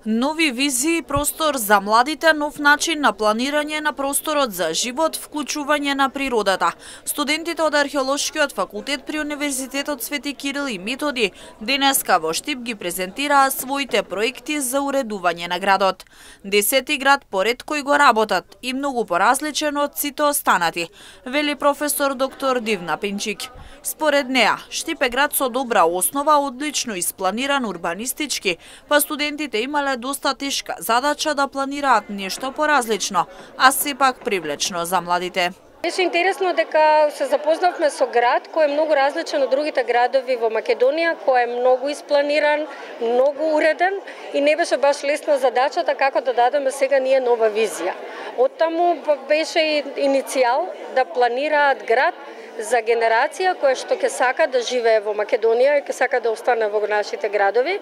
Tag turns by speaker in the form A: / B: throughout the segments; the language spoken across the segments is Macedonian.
A: Нови визии, простор за младите, нов начин на планирање на просторот за живот, вклучување на природата. Студентите од Археолошкиот факултет при Универзитетот Свети Кирил и Методи денеска во Штип ги презентираа своите проекти за уредување на градот. 10 град поред кој го работат и многу поразличен од сите останати, вели професор доктор Дивна Пинчик. Според неа, Штип е град со добра основа, одлично испланиран урбанистички, па студентите имале доста тешка задача да планираат нешто поразлично, а сепак привлечно за младите.
B: Беше интересно дека се запознавме со град кој е многу различен од другите градови во Македонија, кој е многу испланиран, многу уреден и не беше баш лесна задачата како да дадеме сега ние нова визија. Оттаму беше и иницијал да планираат град за генерација која што ќе сака да живее во Македонија и ќе сака да остане во нашите градови,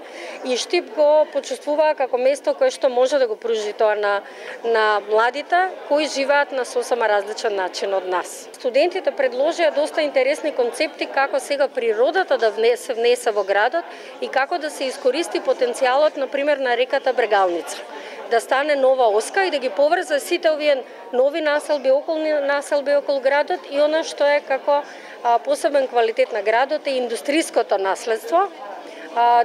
B: и Штип го почувствува како место кое што може да го пружи тоа на младите кои живеат на сосема различен начин од нас. Студентите предложија доста интересни концепти како сега природата да се внесе во градот и како да се искористи потенцијалот, например, на реката Брегалница, да стане нова оска и да ги поврзе сите овие нови населби, околни населби околу градот, и она што е како посебен квалитет на градот е индустријското наследство,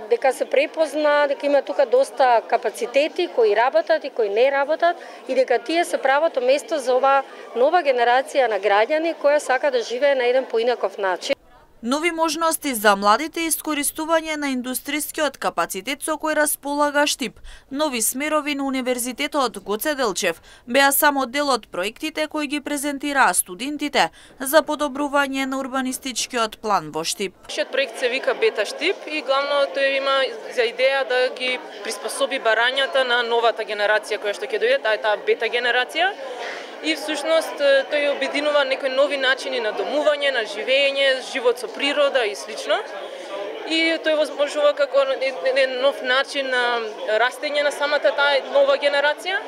B: дека се препозна, дека има тука доста капацитети кои работат и кои не работат, и дека тие се правото место за ова нова генерација на граѓани која сака да живее на еден поинаков начин.
A: Нови можности за младите и искористување на индустријскиот капацитет со кој располага Штип, нови смерови на Универзитетот Гоце Делчев беа само дел од проектите кои ги презентираа студентите за подобрување на урбанистичкиот план во Штип.
C: Нашиот проект се вика Бета Штип и главно тој има за идеја да ги приспособи барањата на новата генерација која што ќе дојде, таа бета генерација. И всушност тој обединува некои нови начини на домување, на живење, живот со природа и слично. И тој возможува како еден нов начин на растење на самата таа нова генерација,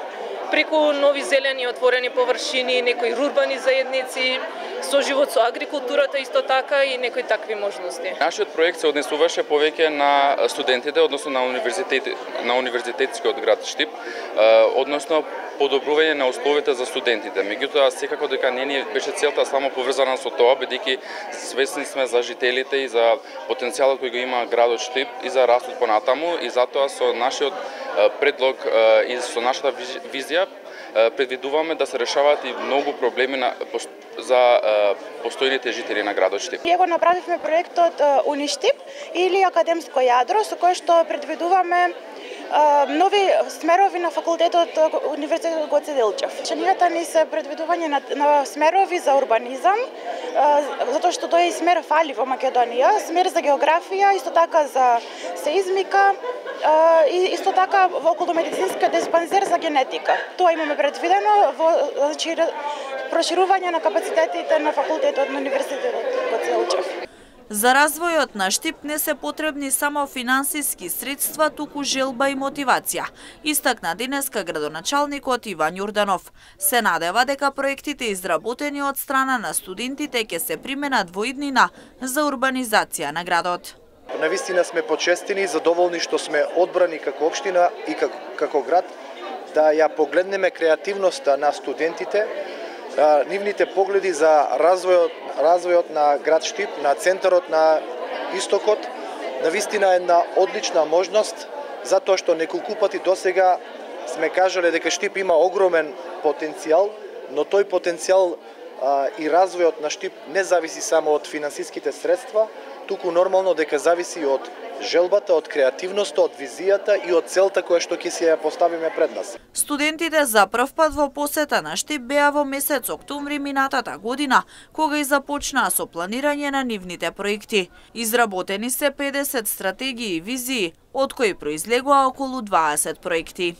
C: преку нови зелени отворени површини, некои урбани заедници, соживот со агрикултурата исто така и некои такви можности.
D: Нашиот проект се однесуваше повеќе на студентите, односно на универзитетскиот град Штип, односно подобрување на условите за студентите. Меѓутоа, секако дека не ни беше целта само поврзана со тоа, бидејќи свесни сме за жителите и за потенцијалот кој го има градот Штип и за растот понатаму, и затоа со нашиот предлог и со нашата визија предвидуваме да се решаваат и многу проблеми за постојните жители на градот Штип.
E: Ние го направивме проектот Уништип или академско јадро, со кое што предвидуваме нови смерови на факултетот Универзитетот Гоце Делчев. Ченијата ни се предвидување на смерови за урбанизам, затоа што тој смер фали во Македонија, смер за географија, исто така за сеизмика, и исто така во околумедицинска диспансер за генетика. Тоа имаме предвидено во проширување на капацитетите на факултетот на Универзитетот Гоце Делчев.
A: За развојот на Штип не се потребни само финансиски средства, туку желба и мотивација, истакна денеска градоначалникот Иван Јорданов. Се надева дека проектите изработени од страна на студентите ќе се применат во иднина за урбанизација на градот.
F: Навистина сме почестени и задоволни што сме одбрани како општина и како град да ја погледнеме креативноста на студентите, нивните погледи за развојот на град Штип, на центарот на истокот. Навистина е една одлична можност, затоа што неколку пати досега сме кажале дека Штип има огромен потенцијал, но тој потенцијал и развојот на Штип не зависи само од финансиските средства, туку нормално дека зависи од желбата, од креативноста, од визијата и од целта која што ќе си ја поставиме пред нас.
A: Студентите за прв пат во посета на Штип беа во месец октомври минатата година, кога и започнаа со планирање на нивните проекти. Изработени се 50 стратегии и визии, од кои произлегоа околу 20 проекти.